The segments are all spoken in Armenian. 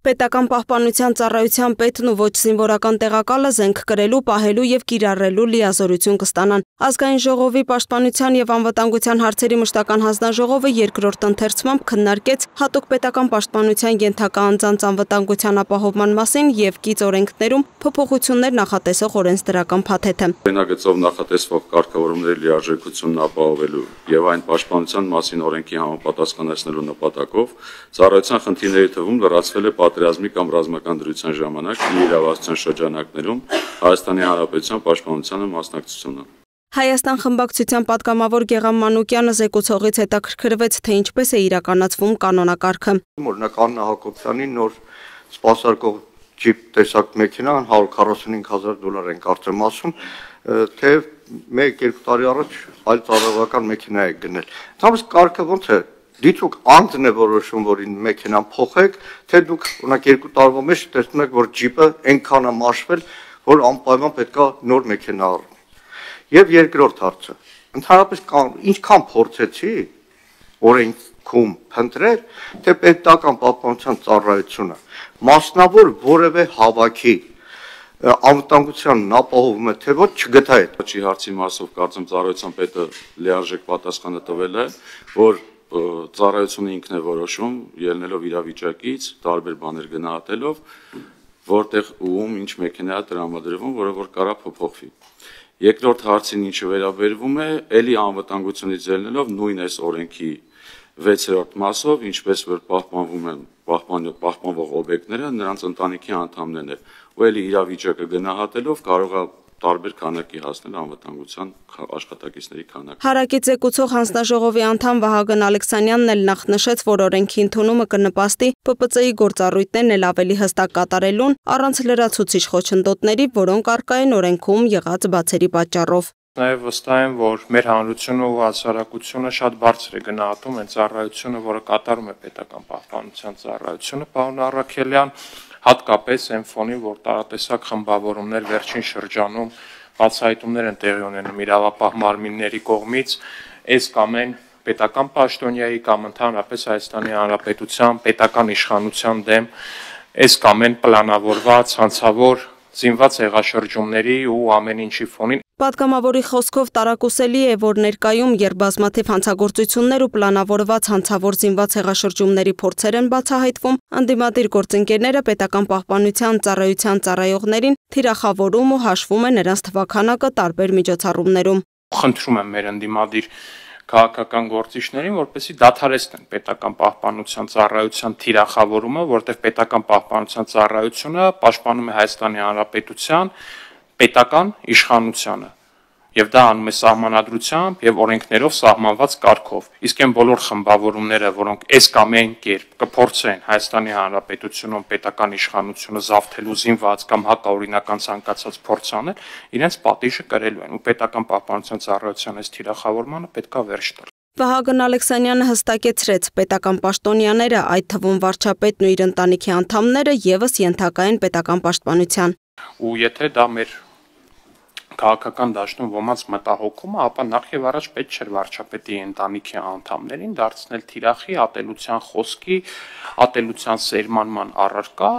Պետական պահպանության ծառայության պետն ու ոչ զինվորական տեղակալը զենք կրելու, պահելու եւ կիրառելու լիազորություն կստանան։ Ազգային ժողովի պաշտպանության եւ անվտանգության հարցերի մշտական հանձնաժողովը երկրորդ ընթերցմամբ քննարկեց հատուկ պետական պաշտպանության ենթակա անձանց անվտանգության ապահովման մասին եւ կից օրենքներում փոփոխություններ նախատեսող օրենսդրական փաթեթը։ Օրենագծով նախատեսվող կարգավորումների լիարժեքությունն ապահովելու եւ այն պաշտպանության մասին օրենքի համապատասխանեցնելու նպատակով ծառայության խնդիրների թվում լրացվել է պատերազմի կամ ռազմական դրության ժամանակ իրավասության շրջանակներում Հայաստանի Հանրապետության պաշտպանությանը մասնակցությունը։ Հայաստան խմբակցության պատգամավոր Գեղամ Մանուկյանը զեկուցողից հետաքրքրվեց, թե ինչպես է իրականացվում կանոնակարգը։ Օրինակ Աննա Հակոբյանի նոր սպասարկող ջիպ տեսակ մեքենան $145,000 են կարծեմ ասում, թե 1-2 տարի առաջ այլ ծառայողական մեքենա է գնել։ Ընդհանրապես կարգը ոնց է։ Դիցուկ անձն է որոշում, որ մեքենան փոխեք, թե դուք օրինակ 2 տարվա մեջ տեսնում եք, որ ջիպը այնքան է մաշվել, որ անպայման պետքա նոր մեքենա առնի։ Եվ երկրորդ հարցը, ընդհանրապես ինչքան փորձեցի օրենքում փնտրել, թե պետական պահպանության ծառայությունը մասնավոր որևէ հավաքի անվտանգությանն ապահովում է, թե ոչ չգտա այդ։ Չի հարցի մասով կարծեմ ծառայության պետը լիարժեք պատասխանը տվել է, որ ծառայությունը ինքն է որոշում, ելնելով իրավիճակից, տարբեր բաներ գնահատելով, որտեղ ում ինչ մեքենա է տրամադրվում, որը որ կարա փոփոխվի։ Երկրորդ հարցին ինչը վերաբերվում է, ելի անվտանգությունից ելնելով նույն այս օրենքի 6-րդ մասով, ինչպես որ պահպանվում են պահպանվող օբյեկտները, նրանց ընտանիքի անդամներն են, ու ելի իրավիճակը գնահատելով կարող է տարբեր քանակի հասնել անվտանգության աշխատակիցների քանակը։ Հարակից զեկուցող հանձնաժողովի անդամ Վահագն Ալեքսանյանն էլ նախ նշեց, որ օրենքի ընդունումը կնպաստի ՊՊՑ-ի գործառույթներն էլ ավելի հստակ կատարելուն, առանց լրացուցիչ խոչընդոտների, որոնք առկա են օրենքում եղած բացերի պատճառով։ Նաև վստահ եմ, որ մեր հանրությունը ու հասարակությունը շատ բարձր է գնահատում այն ծառայությունը, որը կատարում է պետական պահպանության ծառայությունը, պարոն Առաքելյան, հատկապես այն ֆոնին, որ տարատեսակ խմբավորումներ վերջին շրջանում բացահայտումներ են տեղի ունենում իրավապահ մարմինների կողմից, այս կամ այն պետական պաշտոնյայի կամ ընդհանրապես Հայաստանի Հանրապետության պետական իշխանության դեմ, այս կամ այն պլանավորված, հանցավոր զինված հեղաշրջումների ու ամեն ինչի ֆոնին։ Պատգամավորի խոսքով տարակուսելի է, որ ներկայում, երբ բազմաթիվ հանցագործություններ ու պլանավորված հանցավոր զինված հեղաշրջումների փորձեր են բացահայտվում, ընդդիմադիր գործընկերները պետական պահպանության ծառայության ծառայողներին թիրախավորում ու հաշվում է նրանց թվաքանակը տարբեր միջոցառումներում։ Խնդրում եմ մեր ընդդիմադիր քաղաքական գործիչներին, որպեսզի դադարեցնեն պետական պահպանության ծառայության թիրախավորումը, որտեղ պետական պահպանության ծառայությունը պաշտպանում է Հայաստանի Հանրապետության պետական իշխանությանը եւ դա անում է սահմանադրությամբ եւ օրենքներով սահմանված կարգով։ Իսկ այն բոլոր խմբավորումները, որոնք այս կամ այն կերպ կփորձեն Հայաստանի Հանրապետությունում պետական իշխանությունը զավթելու զինված կամ հակաօրինական ցանկացած փորձ անել, իրենց պատիժը կրելու են ու պետական պահպանության ծառայության այս թիրախավորմանը պետքա վերջ տալ։ Վահագն Ալեքսանյանը հստակեցրեց, պետական պաշտոնյաները, այդ թվում վարչապետն ու իր ընտանիքի անդամները եւս ենթակա են պետական պաշտպանության։ Ու եթե դա մեր քաղաքական դաշտում ոմանց մտահոգումը, ապա նախ եւ առաջ պետք չէր վարչապետի ընտանիքի անդամներին դարձնել թիրախի, ատելության խոսքի, ատելության սերմանման առարկա,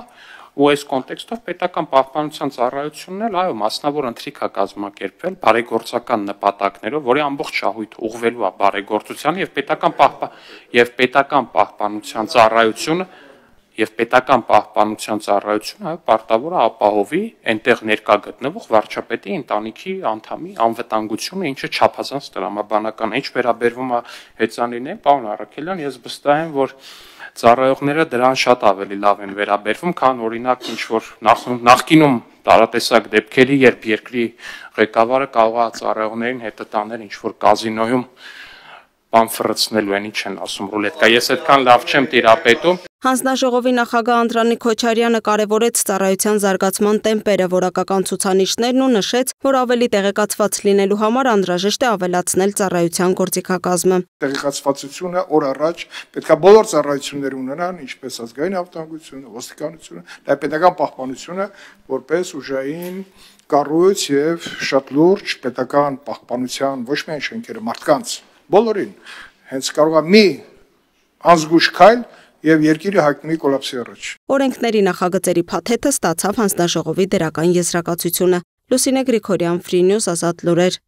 ու այս կոնտեքստով պետական պահպանության ծառայությունն էլ այո մասնավոր ընթրիք է կազմակերպվել բարեգործական նպատակներով, որի ամբողջ շահույթը ուղղվելու է բարեգործության եւ պետական պահպանության ծառայությունը այո պարտավոր է ապահովի այնտեղ ներկա գտնվող վարչապետի ընտանիքի անդամի անվտանգությունը, ինչը չափազանց տրամաբանական է։ Ինչ վերաբերվում է հեծանիներին, պարոն Առաքելյան, ես վստահ եմ, որ ծառայողները դրան շատ ավելի լավ են վերաբերվում, քան օրինակ ինչ որ նախկինում տարատեսակ դեպքերի, երբ երկրի ղեկավարը կարող է ծառայողներին հետը տանել ինչ որ կազինոյում բան ֆրցնելու են, ինչ են ասում ռուլետկա։ Ես այդքան լավ չեմ տիրապետում։ Հանձնաժողովի նախագահ Անդրանիկ Քոչարյանը կարևորեց ծառայության զարգացման տեմպերը, որակական ցուցանիշներն ու նշեց, որ ավելի տեղեկացված լինելու համար անհրաժեշտ է ավելացնել ծառայության գործիքակազմը։ Տեղեկացվածությունը օր առաջ պետքա բոլոր ծառայությունները ունենան, ինչպես ազգային անվտանգությունը, ոստիկանությունը, նաև պետական պահպանությունը, որպես ուժային կառույց եւ շատ լուրջ պետական պահպանության ոչ միայն շենքերը, մարդկանց բոլորին հենց կարող է մի անզգույշ քայլ եւ երկիրը հայտնվի կոլապսի առաջ։ Օրենքների նախագծերի փաթեթը ստացավ հանձնաժողովի դերական եզրակացությունը։ Լուսինե Գրիգորյան, Free News, Ազատ լուրեր։